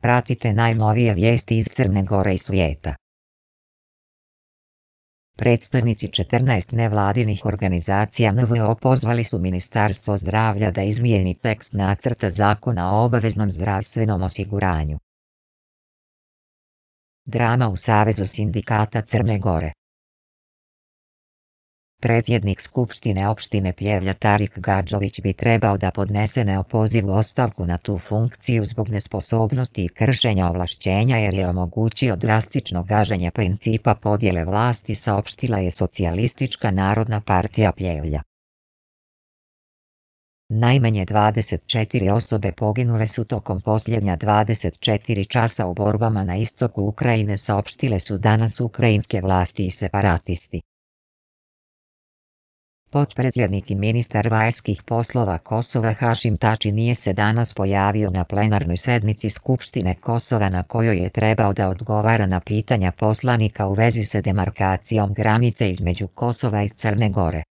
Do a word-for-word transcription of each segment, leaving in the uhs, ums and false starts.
Pratite najnovije vijesti iz Crne Gore i svijeta. Predstavnici četrnaest nevladinih organizacija N V O pozvali su Ministarstvo zdravlja da izmijeni tekst nacrta zakona o obaveznom zdravstvenom osiguranju. Drama u Savezu sindikata Crne Gore. Predsjednik Skupštine opštine Pljevlja Tarik Gadžović bi trebao da podnese neopozivu ostavku na tu funkciju zbog nesposobnosti i kršenja ovlašćenja jer je omogućio drastično gaženje principa podjele vlasti, saopštila je Socijalistička narodna partija Pljevlja. Najmanje dvadeset četiri osobe poginule su tokom posljednja dvadeset četiri časa u borbama na istoku Ukrajine, saopštile su danas ukrajinske vlasti i separatisti. Potpredsjednik i ministar vanjskih poslova Kosova Hašim Tači nije se danas pojavio na plenarnoj sednici Skupštine Kosova na kojoj je trebao da odgovara na pitanja poslanika u vezi sa demarkacijom granice između Kosova i Crne Gore.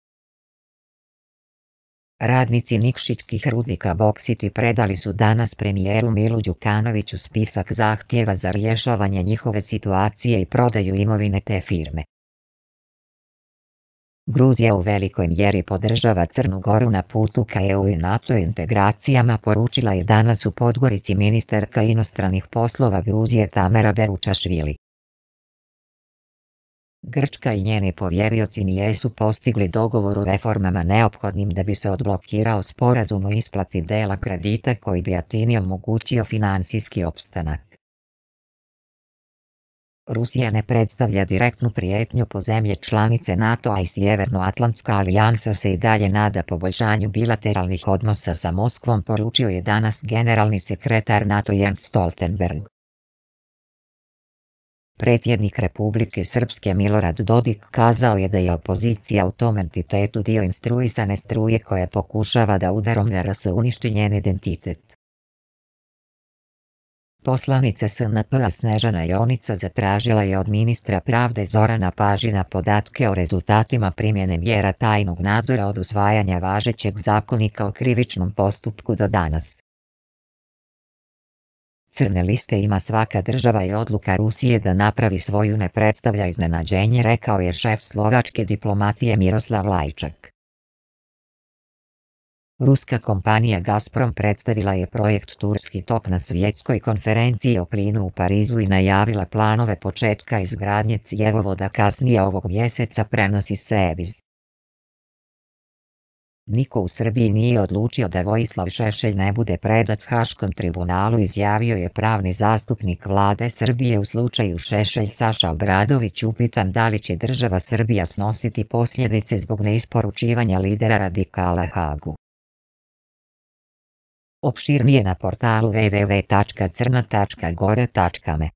Radnici Nikšićkih rudnika Boksiti predali su danas premijeru Milu Đukanoviću spisak zahtjeva za rješavanje njihove situacije i prodaju imovine te firme. Gruzija u velikoj mjeri podržava Crnu Goru na putu ka E U i NATO integracijama, poručila je danas u Podgorici ministarka inostranih poslova Gruzije Tamara Beručašvili. Grčka i njeni povjerioci nisu postigli dogovor o reformama neophodnim da bi se odblokirao sporazum o isplati dela kredita koji bi Atini omogućio finansijski opstanak. Rusija ne predstavlja direktnu prijetnju po zemlje članice NATO-a i Sjevernoatlantska alijansa se i dalje nada poboljšanju bilateralnih odnosa sa Moskvom, poručio je danas generalni sekretar NATO Jens Stoltenberg. Predsjednik Republike Srpske Milorad Dodik kazao je da je opozicija u tom entitetu dio instruisane struje koja pokušava da udarom na R S uništi njen identitet. Poslanica S N P-a Snežana Jonica zatražila je od ministra pravde Zorana Pažina podatke o rezultatima primjene mjera tajnog nadzora od usvajanja važećeg zakonika o krivičnom postupku do danas. Crne liste ima svaka država i odluka Rusije da napravi svoju ne predstavlja iznenađenje, rekao je šef slovačke diplomatije Miroslav Lajčak. Ruska kompanija Gazprom predstavila je projekt Turski tok na svjetskoj konferenciji o plinu u Parizu i najavila planove početka izgradnje cjevovoda kasnije ovog mjeseca, prenosi Seviz. Niko u Srbiji nije odlučio da Vojislav Šešelj ne bude predat Haškom tribunalu, izjavio je pravni zastupnik vlade Srbije u slučaju Šešelj Saša Obradović, upitan da li će država Srbija snositi posljedice zbog neisporučivanja lidera radikala Hagu. Opširnije na portalu w w w tačka crna tačka gore tačka me.